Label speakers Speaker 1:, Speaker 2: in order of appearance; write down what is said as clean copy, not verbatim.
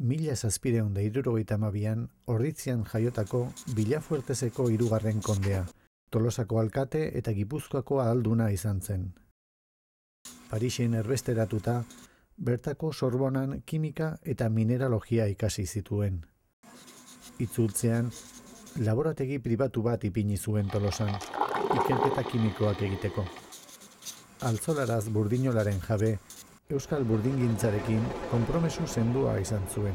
Speaker 1: 1772an Orditzian jaiotako Villafuerteseko 3. kondea, Tolosako alkate eta Gipuzkoako ahalduna izan zen. Parisen erbesteratuta, bertako Sorbonan kimika eta mineralogia ikasi zituen. Itzultzean, laborategi pribatu bat ipini zuen Tolosan, ikerketa kimikoak egiteko. Altzolaraz burdinolaren jabe, Euskal burdingintzarekin konpromesu sendua izan zuen.